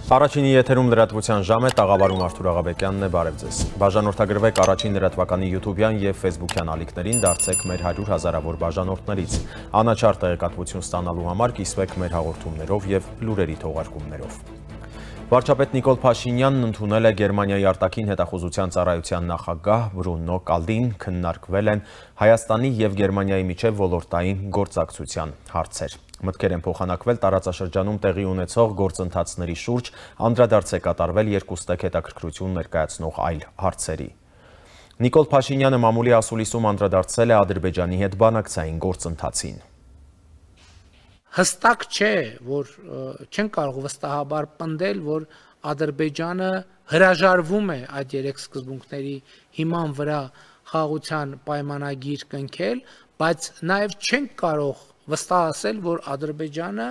Առաջինի եթերում լրատվության ժամ է, տաղավարում Արթուր Աղաբեկյանն է, բարև ձեզ։ Բաժանորդագրվեք առաջին լրատվականի յութուբյան և ֆեյսբուքյան ալիքներին, դարձեք մեր 100 հազարավոր բաժանորդներից։ Անաչառ տեղեկատվություն ստանալու համար կիսվեք մեր հաղորդումներով և լուրերի թողարկումներով։ Վարչապետ Նիկոլ Փաշինյանն ընդունել է Գերմանիայի արտաքին հետախուզության ծառայության նախագահ Բրունո Կալդին, քննարկվել են Հայաստանի և Գերմանիայի միջև ոլորտային գործակցության հարցեր։ Մտքեր են փոխանակվել տարածաշրջանում տեղի ունեցող գործընթացների շուրջ, անդրադարձ է կատարվել երկուստեք հետաքրքրություն ներկայացնող այլ հարցերի։ Նիկոլ Փաշինյանը մամուլի ասուլիսում անդրադարձել է Ադրբեջանի հետ բանակցային գործընթացին։ Հստակ չէ, որ չեն կարող վստահաբար պնդել, որ Ադրբեջանը հրաժարվում է այդ երեք սկզբունքների հիման վրա խաղաղության պայմանագիր կնքել, բայց նաև չենք կարող վստահ ասել, որ Ադրբեջանը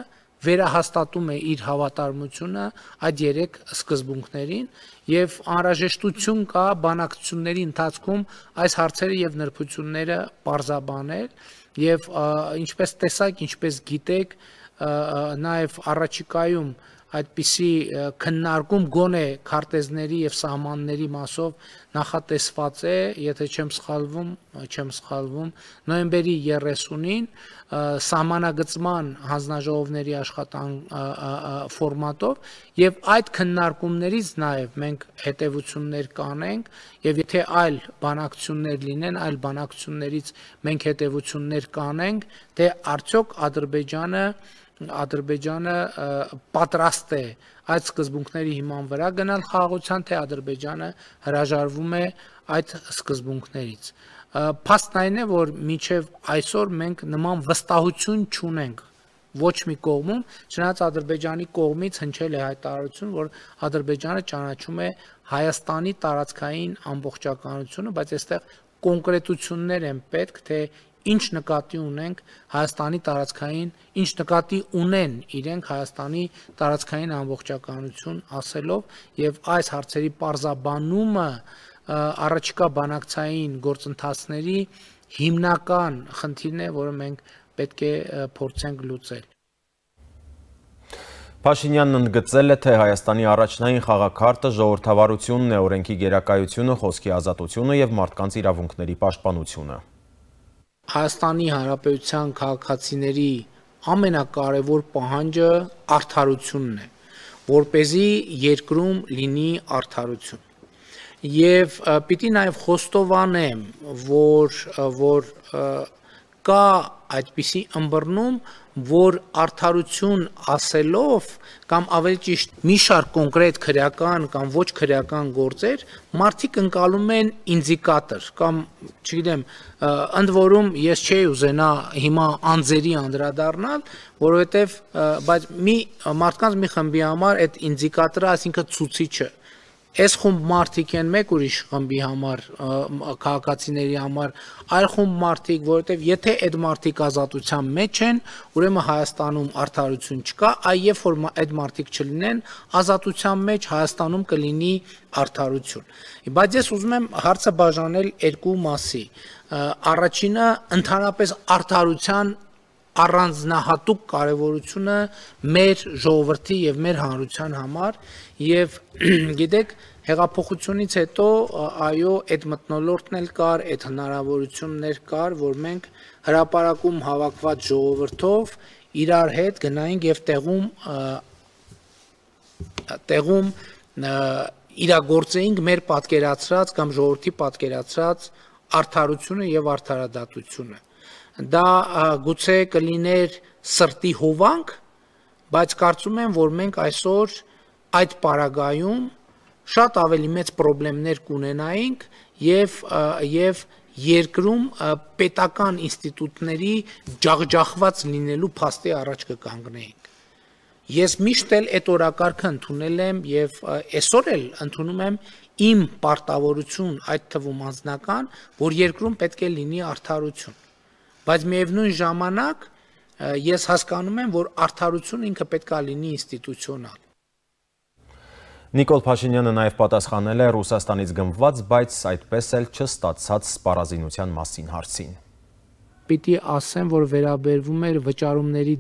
վերահաստատում է իր հավատարմությունը այդ երեք սկզբունքներին և անհրաժեշտություն կա բանակցությունների ընթացքում այս հարցերը և նրբությունները պարզաբանել և ինչպես տեսակ, ինչպես գիտեք, նաև առաջիկայում այդպիսի քննարկում գոնե քարտեզների և սահմանների մասով նախատեսված է, եթե չեմ սխալվում, նոյեմբերի 30-ին սահմանագծման հանձնաժողովների ֆորմատով և այդ քննարկումներից նաև մենք հետևություններ կանենք և եթե այլ բանակցություններ լինեն, այլ բանակցություններից մենք հետևություններ կանենք, թե արդյոք Ադրբեջանը պատրաստ է այդ սկզբունքների հիման վրա գնալ խաղաղության, թե Ադրբեջանը հրաժարվում է այդ սկզբունքներից։ Փաստն այն է, որ մինչև այսօր մենք նման վստահություն չունենք ոչ մի կողմում, չնայած Ադրբեջանի կողմից հնչել է հայտարարություն, որ Ադրբեջանը ճանաչում է Հայաստանի տարածքային ամբողջականությունը, բայց այստեղ կոնկրետություններ են պետք, թե ինչ նկատի ունենք Հայաստանի տարածքային, ինչ նկատի ունեն իրենք Հայաստանի տարածքային ամբողջականություն ասելով և այս հարցերի պարզաբանումը առաջիկա բանակցային գործընթացների հիմնական խնդիրն է, որը մենք պետք է փորձենք լուծել։ Փաշինյանն ընդգծել է, թե Հայաստանի առաջնային խաղաքարտը ժողովրդավարությունն է, օրենքի գերակայությունը, խոսքի ազատությունը և մարդկանց իրավունքների պաշտպանությունը։ Հայաստանի Հանրապետության քաղաքացիների ամենակարևոր պահանջը արդարությունն է, որպեսզի երկրում լինի արդարություն։ Եվ պիտի նաև խոստովանեմ, որ կա այդպիսի ըմբռնում, որ արդարություն ասելով կամ ավելի ճիշտ մի շարք կոնկրետ քրեական կամ ոչ քրեական գործեր մարդիկ ընկալում են ինդիկատոր կամ չգիտեմ, ընդ որում ես չէի ուզենա հիմա անձերի անդրադառնալ, որովհետև բայց մարդկանց մի խմբի համար այդ ինդիկատորը, այսինքն ցուցիչը Այս խումբ մարդիկ են մեկ ուրիշ խմբի համար, քաղաքացիների համար, այլ խումբ մարդիկ, որովհետև եթե այդ մարդիկ ազատության մեջ են, ուրեմն Հայաստանում արդարություն չկա, այ երբ որ այդ մարդիկ չլինեն, ազատության մեջ Հայաստանում կլինի արդարություն։ Բայց ես ուզում եմ հարցը բաժանել երկու մասի։ Առաջինը ընդհանրապես արդարության առանձնահատուկ կարևորությունը մեր ժողովրդի և մեր հանրության համար և գիտեք հեղափոխությունից հետո այո այդ մթնոլորտն էլ կար, այդ հնարավորություններ կար, որ մենք հրապարակում հավաքված ժողովրդով իրար հետ գնայինք և տեղում իրագործեինք մեր պատկերացրած կամ ժողովրդի պատկերացրած արդարությունը և արդարադատությունը։ Դա գուցե կլիներ սրտի հովանք, բայց կարծում եմ, որ մենք այսօր այդ պարագայում շատ ավելի մեծ խնդիրներ կունենայինք և երկրում պետական ինստիտուտների ջախջախված լինելու փաստի առաջ կկանգնեինք։ Ես միշտ էլ այդ օրակարգը ընդունել եմ և այսօր էլ ընդունում եմ իմ պարտավորություն, այդ թվում անձնական, որ երկրում պետք է լինի արդարություն։ Բայց միևնույն ժամանակ ես հասկանում եմ, որ արդարությունը ինքը պետք է լինի ինստիտուցիոնալ։ Նիկոլ Փաշինյանը նաև պատասխանել է Ռուսաստանից գնված, բայց այդպես էլ չստացած սպառազինության մասին հարցին։ պիտի ասեմ, որ վերաբերվում էր վճարումների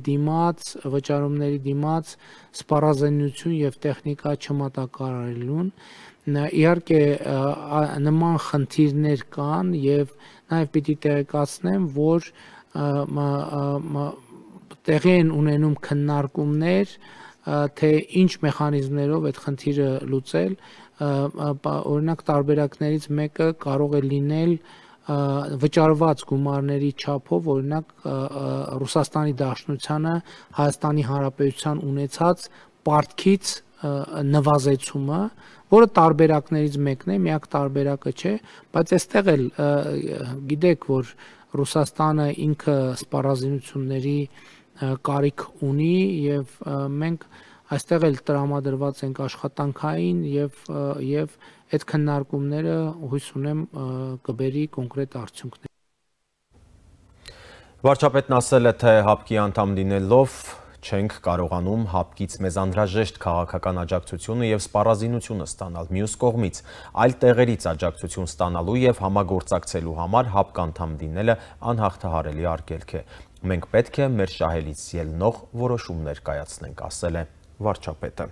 դիմաց սպառազինություն եւ տեխնիկա չմատակարարելուն։ Իհարկե նման խնդիրներ կան եւ նաեւ պիտի տեղեկացնեմ, որ տեղի են ունենում քննարկումներ, թե ինչ մեխանիզմներով այդ խնդիրը լուծել, օրինակ տարբերակներից մեկը կարող է լինել վճարված գումարների չափով, օրինակ Ռուսաստանի Դաշնությանը Հայաստանի Հանրապետության ունեցած պարտքից նվազեցումը, որը տարբերակներից մեկն է, միակ տարբերակը չէ, բայց այստեղ էլ գիտեք, որ Ռուսաստանը ինքը սպառազինությունների կարիք ունի եւ մենք այստեղ էլ տրամադրված ենք աշխատանքային եւ այդ քննարկումները հույս ունեմ կբերի կոնկրետ արդյունքներ։ Վարչապետն ասել է, թե ՀԱՊԿ-ի անդամ լինելով չենք կարողանում ՀԱՊԿ-ից մեզ անհրաժեշտ քաղաքական աջակցությունը եւ սպառազինությունը ստանալ։ Մյուս կողմից այլ տեղերից աջակցություն ստանալու եւ համագործակցելու համար ՀԱՊԿ անդամ լինելը անհաղթահարելի արգելք է։ Մենք պետք է մեր շահելից ելնող որոշումներ կայացնենք, ասել է վարչապետը։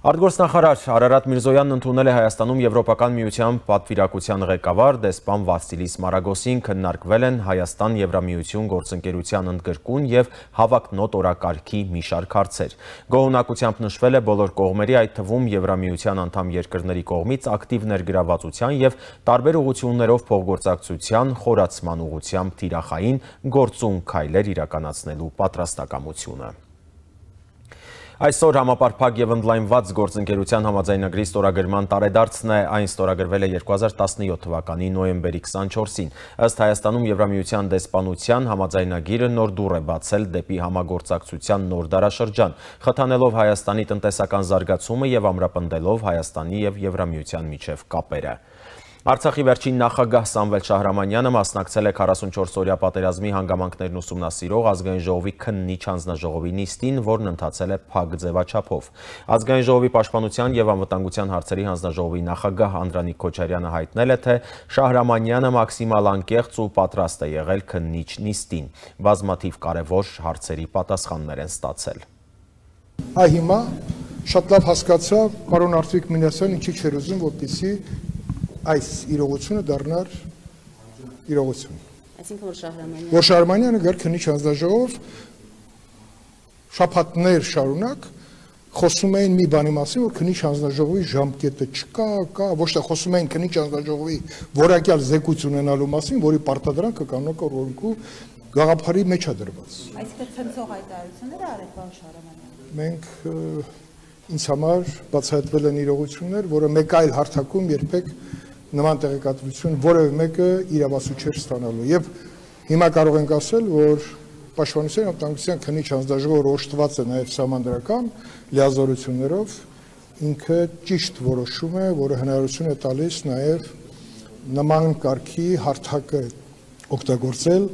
Արտգործնախարար Արարատ Միրզոյանն ընդունել է Հայաստանում Եվրոպական միության պատվիրակության ղեկավար դեսպան Վասիլիս Մարագոսին, քննարկվել են Հայաստան-Եվրամիություն գործընկերության ընդգրկուն եւ հավակնոտ օրակարգի մի շարք հարցեր։ Գոհունակությամբ նշվել է բոլոր կողմերի, այդ թվում Եվրամիության անդամ երկրների կողմից ակտիվ ներգրավվածության եւ տարբեր ուղղություններով փոխգործակցության խորացման ուղղությամբ թիրախային գործուն քայլեր իրականացնելու պատրաստակամությունը։ Այսօր համապարփակ եւ ընդլայնված գործընկերության համաձայնագրի ստորագրման տարեդարձն է, այն ստորագրվել է 2017 թվականի նոյեմբերի 24-ին։ Ըստ Հայաստանում Եվրամիության դեսպանության համաձայնագիրը նոր դուռ է բացել դեպի համագործակցության նոր դարաշրջան, խթանելով Հայաստանի տնտեսական զարգացումը եւ ամրապնդելով Հայաստանի եւ Եվրամիության միջև կապերը։ Արցախի վերջին նախագահ Սամվել Շահրամանյանը մասնակցել է 44-օրյա պատերազմի հանգամանքներն ուսումնասիրող Ազգային ժողովի քննիչ հանձնաժողովի նիստին, որն ընթացել է փակ ձևաչափով։ Ազգային ժողովի պաշտպանության եւ անվտանգության հարցերի հանձնաժողովի նախագահ Անդրանիկ Քոչարյանը հայտնել է, թե Շահրամանյանը մաքսիմալ անկեղծ ու պատրաստ է եղել քննիչ նիստին։ Բազմաթիվ կարևոր հարցերի պատասխաններ են ստացել։ Հիմա շատ լավ հասկացա պարոն Արտվիկ Մինասյան ինչի չէր ուզում, որպեսզի այս իրողությունը դառնար իրողություն։ Այսինքն որ Շահրամանյանը գար քննիչ հանձնաժողով շաբաթներ շարունակ խոսում էին մի բանի մասին, որ քննիչ հանձնաժողովի ժամկետը չկա, ոչ թե խոսում էին քննիչ հանձնաժողովի որակյալ զեկույց ունենալու մասին, որի պարտադրանքը կանոնավոր օրենքու գաղափարի մեջ է դրված։ Այսինքն ցնցող հայտարարությունները արեք պարոն Շահրամանյան։ Մենք ինձ համար բացահայտվել են իրողություններ, որը մեկ այլ հարթակում երբեք նման տեղեկատվություն որևէ մեկը իրավասու չէր ստանալու։ Եվ հիմա կարող ենք ասել, որ Պաշտպանության եւ անվտանգության քննիչ հանձնաժողովը օժտված է նաեւ սահմանադրական լիազորություններով, ինքը ճիշտ որոշում է, որը հնարավորություն է տալիս նաեւ նման կարգի հարթակը օգտագործել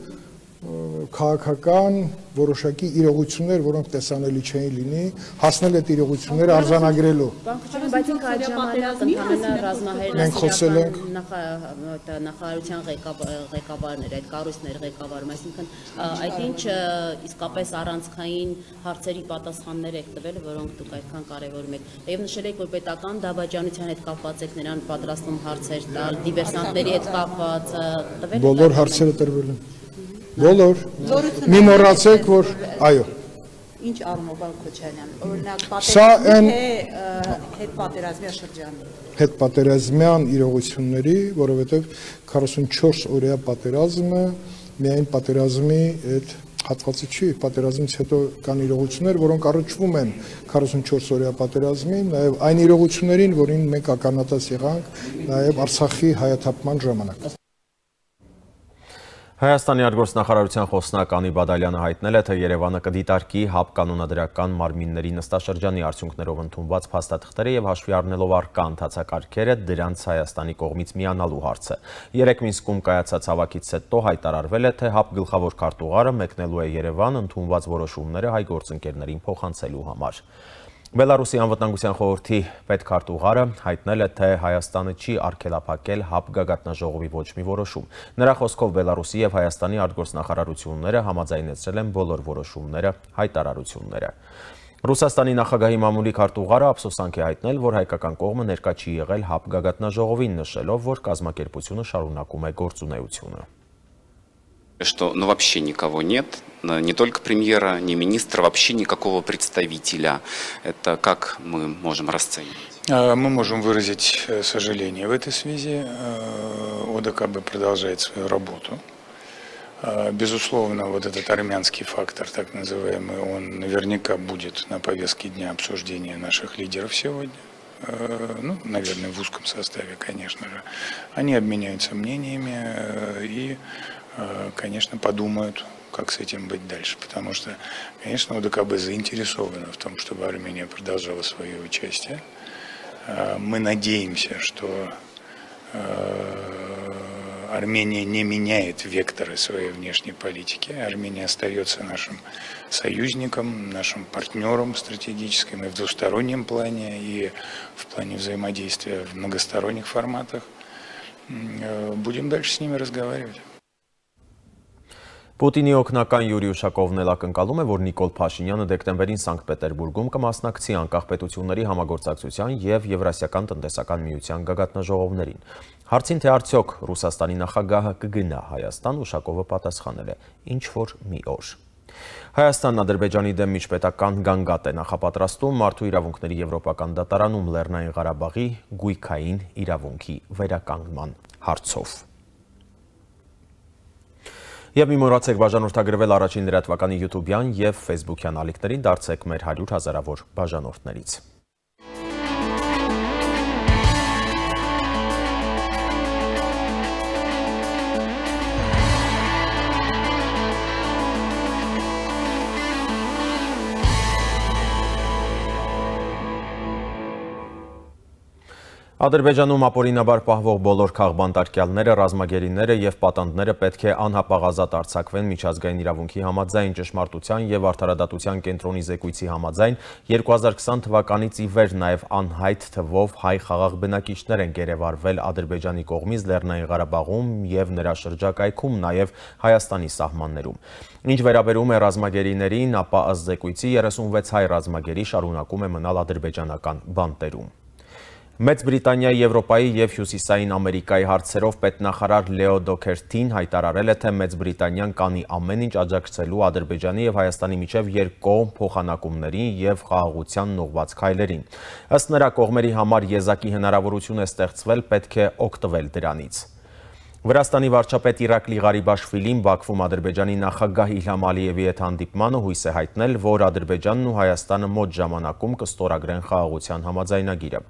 քաղաքական որոշակի իրողություններ, որոնք տեսանելի չէին լինի, հասնել այդ իրողությունները արձանագրելու։ Բայց ինքը այդ ժամանակ ընդհանրապես ռազմահերն նախարարության ղեկավարներ, այդ կառույցներ ղեկավարում, այսինքն այդ ինչը իսկապես առանցքային հարցերի պատասխաններ եք տվել, որոնք դուք այդքան կարևորում եք։ Եվ նշել եք, որ պետական դավաճանության հետ կապված եք նրան պատրաստում հարցեր տալ, դիվերսանտների հետ կապված տվել։ Բոլոր հարցերը տրվել են։ Բոլոր մի մոռացեք, որ այո։ Ինչ առումով Քոչարյան, օրինակ հետպատերազմյան շրջանի։ Հետպատերազմյան իրողությունների, որովհետև 44 օրյա պատերազմը միայն պատերազմի այդ հատվածը չի, պատերազմից հետո կան իրողություններ, որոնք առնչվում են 44 օրյա պատերազմին, նաև այն իրողություններին, որին մենք ականատես եղանք նաև Արցախի հայաթափման ժամանակ։ Հայաստանի արտգործնախարարության խոսնակ Անի Բադալյանը հայտնել է, թե Երևանը կդիտարկի ՀԱՊԿ կանոնադրական մարմինների նստաշրջանի արդյունքներով ընդունված փաստաթղթերը եւ հաշվի առնելով առկա ընթացակարգերը դրանց Հայաստանի կողմից միանալու հարցը։ Երեկ Մինսկում կայացած հավաքից հետո հայտարարվել է, թե ՀԱՊԿ գլխավոր քարտուղարը մեկնելու է Երևան ընդունված որոշումները հայ գործընկերներին փոխանցելու համար։ Բելարուսի անվտանգության խորհրդի պետքարտուղարը հայտնել է, թե Հայաստանը չի արգելափակել ՀԱՊ գագաթնաժողովի ոչ մի որոշում։ Նրա խոսքով Բելարուսի եւ Հայաստանի արտգործնախարարությունները համաձայնեցրել են բոլոր որոշումները, հայտարարությունները։ Ռուսաստանի նախագահի մամուլի քարտուղարը ափսոսանք է հայտնել, որ հայկական կողմը ներկա չի եղել ՀԱՊ գագաթնաժողովին, նշելով, որ կազմակերպությունը շարունակում է գործունեությունը։ Что вообще никого нет, не только премьера, ни министра, вообще никакого представителя. Это как мы можем расценивать? Мы можем выразить сожаление в этой связи. ОДКБ продолжает свою работу. Безусловно, вот этот армянский фактор, так называемый, он наверняка будет на повестке дня обсуждения наших лидеров сегодня. Ну, наверное, в узком составе, конечно же. Они обменяются мнениями и, конечно, подумают, как с этим быть дальше. Потому что, конечно, ОДКБ заинтересована в том, чтобы Армения продолжала свое участие. Мы надеемся, что Армения не меняет векторы своей внешней политики. Армения остается нашим союзником, нашим партнером стратегическим и в двустороннем плане, и в плане взаимодействия в многосторонних форматах. Будем дальше с ними разговаривать. Պուտինի օգնական Յուրի Ուշակովն էլ ակնկալում է, որ Նիկոլ Փաշինյանը դեկտեմբերին Սանկտ Պետերբուրգում կմասնակցի անկախ պետությունների համագործակցության եւ Եվրասիական տնտեսական միության գագաթնաժողովներին։ Հարցին թե արդյոք Ռուսաստանի նախագահը կգնա Հայաստան, Ուշակովը պատասխանել է. ինչ որ մի օր։ Հայաստանն Ադրբեջանի դեմ միջպետական գանգատ է նախապատրաստում մարդու իրավունքների եվրոպական դատարանում Լեռնային Ղարաբաղի գույքային իրավունքի վերականգնման հարցով։ Եվ մի մոռացեք բաժանորդագրվել առաջին լրատվականի YouTube-յան եւ Facebook-յան ալիքներին, դարձեք մեր 100 հազարավոր բաժանորդներից։ Ադրբեջանում ապօրինաբար պահվող բոլոր քաղբանտարկյալները, ռազմագերիները եւ պատանդները պետք է անհապաղ արձակվեն միջազգային իրավունքի համաձայն, ճշմարտության եւ արդարադատության կենտրոնի զեկույցի համաձայն 2020 թվականից ի վեր նաեւ անհայտ թվով հայ խաղաղ բնակիչներ են գերեվարվել Ադրբեջանի կողմից Լեռնային Ղարաբաղում եւ նրա շրջակայքում, նաեւ Հայաստանի սահմաններում։ Ինչ վերաբերում է ռազմագերիներին, ապա ըստ զեկույցի 36 հայ ռազմագերի շարունակում է մնալ ադրբեջանական բանտերում։ Մեծ Բրիտանիայի, Եվրոպայի եւ Հյուսիսային Ամերիկայի հարցերով պետնախարար Լեո Դոքերթին հայտարարել է, թե Մեծ Բրիտանիան կանի ամեն ինչ աջակցելու Ադրբեջանի եւ Հայաստանի միջև երկկողմ փոխանակումներին եւ խաղաղությանն ուղղված քայլերին։ Ըստ նրա, կողմերի համար եզակի հնարավորություն է ստեղծվել, պետք է օգտվել դրանից։ Վրաստանի վարչապետ Իրակլի Ղարիբաշվիլին Բաքվում Ադրբեջանի նախագահ Իլհամ Ալիևի հետ հանդիպմանը հույս է հայտնել, որ Ադրբեջանն ու Հայաստանը մոտ ժամանակում կստորագրեն խաղաղության համաձայնագիրը։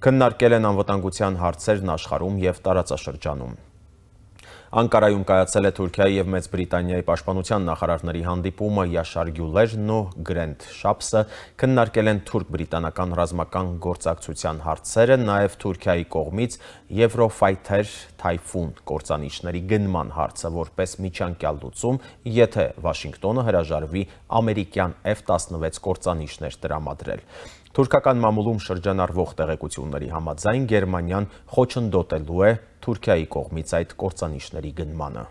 Քննարկել են անվտանգության հարցերն աշխարհում եւ տարածաշրջանում։ Անկարայում կայացել է Թուրքիայի եւ Մեծ Բրիտանիայի պաշտպանության նախարարների հանդիպումը Յաշար Գյուլերն ու Գրենթ Շապսը քննարկել են թուրք-բրիտանական ռազմական գործակցության հարցերը, նաեւ Թուրքիայի կողմից Եվրոֆայթեր Թայֆուն կործանիչների գնման հարցը որպես միջանկյալ լուծում, եթե Վաշինգտոնը հրաժարվի ամերիկյան F-16 կործանիչներ տրամադրել։ Թուրքական մամուլում շրջանառվող տեղեկությունների համաձայն Գերմանիան խոչընդոտելու է Թուրքիայի կողմից այդ կործանիչների գնմանը։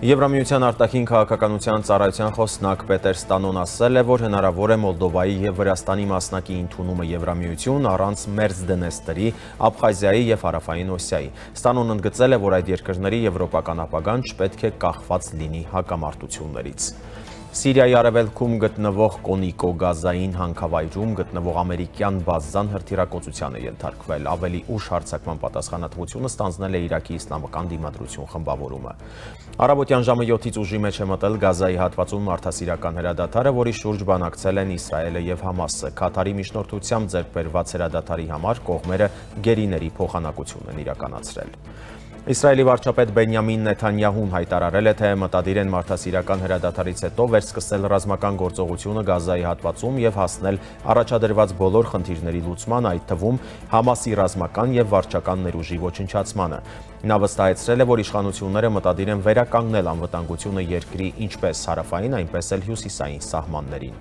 Եվրամիության արտաքին քաղաքականության ծառայության խոսնակ Պետեր Ստանոն ասել է, որ հնարավոր է Մոլդովայի եւ Վրաստանի մասնակի ընդունումը Եվրամիություն առանց Մերձդնեստրի, Աբխազիայի եւ Հարավային Օսիայի։ Ստանոնն ընդգծել է, որ այդ երկրների եվրոպական ապագան չպետք է կախված լինի հակամարտություններից։ Սիրիայի արևելքում գտնվող Կոնիկո գազային հանքավայրում գտնվող ամերիկյան բազան հրթիռակոծության է ենթարկվել։ Ավելի ուշ հարձակման պատասխանատվությունը ստանձնել է Իրաքի իսլամական դիմադրություն խմբավորումը։ Առավոտյան ժամը 7-ից ուժի մեջ է մտել Գազայի հատվածում մարդասիրական հրադադարը, որի շուրջ բանակցել են Իսրայելը եւ Համասը։ Քաթարի միջնորդությամբ ձեռք բերված հրադադարի համար կողմերը գերիների փոխանակություն են իրականացրել։ Իսրայելի վարչապետ Բենյամին Նեթանյահուն հայտարարել է, թե մտադիր են մարդասիրական հրադադարից հետո վերսկսել ռազմական գործողությունը Գազայի հատվածում և հասնել առաջադրված բոլոր խնդիրների լուծման, այդ թվում Համասի ռազմական և վարչական ներուժի ոչնչացմանը։ Նա վստահեցրել է, որ իշխանությունները մտադիր են վերականգնել անվտանգությունը երկրի ինչպես հարավային, այնպես էլ հյուսիսային սահմաններին։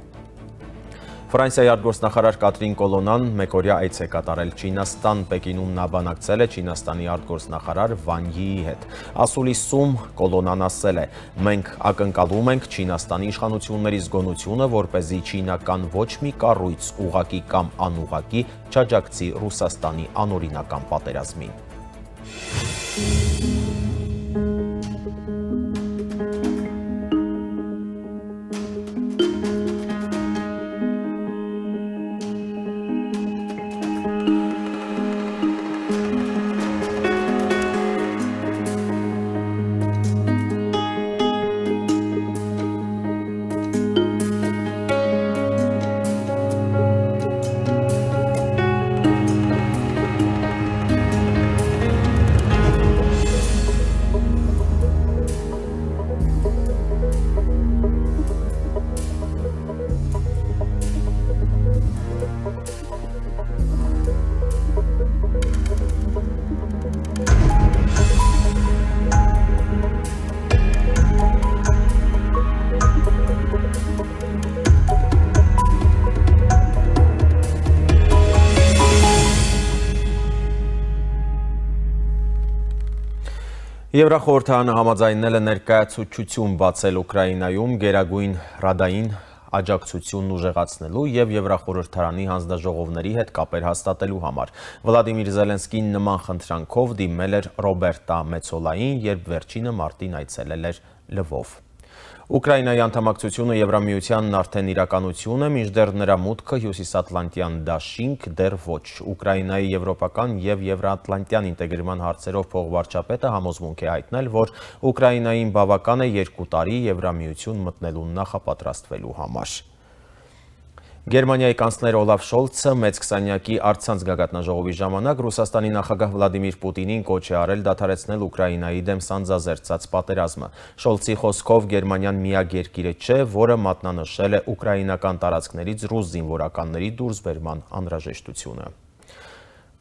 Ֆրանսիայի արտգործնախարար Կատրին Կոլոնան մեկօրյա այց է կատարել Չինաստան, Պեկինում նա բանակցել է Չինաստանի արտգործնախարար Վան Յիի հետ։ Ասուլիսում Կոլոնան ասել է. «Մենք ակնկալում ենք Չինաստանի իշխանությունների զգոնությունը, որպեսզի չինական ոչ մի կառույց ուղղակի կամ անուղղակի չաջակցի Ռուսաստանի անօրինական պատերազմին»։ Եվրախորհրդարանը համաձայնել է ներկայացուցչություն բացել Ուկրաինայում գերագույն ռադային աջակցությունն ուժեղացնելու և Եվրախորհրդարանի հանձնաժողովների հետ կապեր հաստատելու համար։ Վլադիմիր Զելենսկին նման խնդրանքով դիմել էր Ռոբերտա Մեցոլային, երբ վերջինը մարտին այցելել էր Լվով։ Ուկրաինայի անդամակցությունը Եվրամիությանն արդեն իրականություն է, մինչդեռ նրա մուտքը հյուսիսատլանտյան դաշինք դեռ ոչ։ Ուկրաինայի եվրոպական և եվրաատլանտյան ինտեգրման հարցերով փոխվարչապետը համոզմունք է հայտնել, որ Ուկրաինային բավական է 2 տարի Եվրամիություն մտնելուն նախապատրաստվելու համար։ Գերմանիայի կանցլեր Օլաֆ Շոլցը մեծ քսանյակի առցանց գագաթնաժողովի ժամանակ Ռուսաստանի նախագահ Վլադիմիր Պուտինին կոչ է արել դադարեցնել Ուկրաինայի դեմ սանձազերծած պատերազմը։ Շոլցի խոսքով Գերմանիան միակ երկիրը չէ, որը մատնանշել է ուկրաինական տարածքներից ռուս զինվորականների դուրսբերման անհրաժեշտությունը։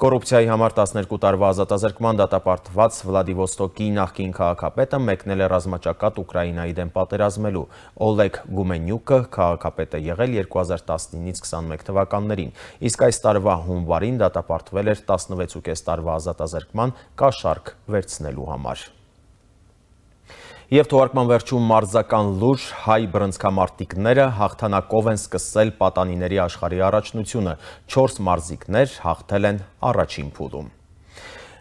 Կոռուպցիայի համար 12 տարվա ազատազրկման դատապարտված Վլադիվոստոկի նախկին քաղաքապետը մեկնել է ռազմաճակատ Ուկրաինայի դեմ պատերազմելու։ Օլեգ Գումենյուկը քաղաքապետ է եղել 2019-ից 21 թվականներին, իսկ այս տարվա հունվարին դատապարտվել էր 16.5 տարվա ազատազրկման կաշառք վերցնելու համար։ Եվ թողարկման վերջում մարզական լուր, հայ բռնցքամարտիկները հաղթանակով են սկսել պատանիների աշխարհի առաջնությունը, 4 մարզիկներ հաղթել են առաջին փուլում։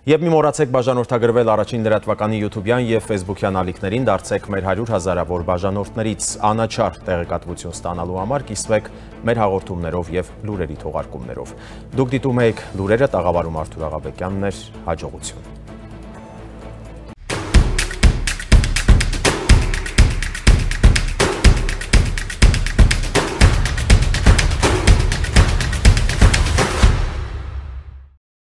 Եվ մի մոռացեք բաժանորդագրվել առաջին լրատվականի YouTube-յան և Facebook-յան ալիքներին, դարձեք մեր 100 հազարավոր բաժանորդներից, անաչառ տեղեկատվություն ստանալու համար կիսվեք մեր հաղորդումներով և լուրերի թողարկումներով։ Դուք դիտում եք լուրերը, տաղավարում Արթուր Աղաբեկյանն էր, հաջողություն։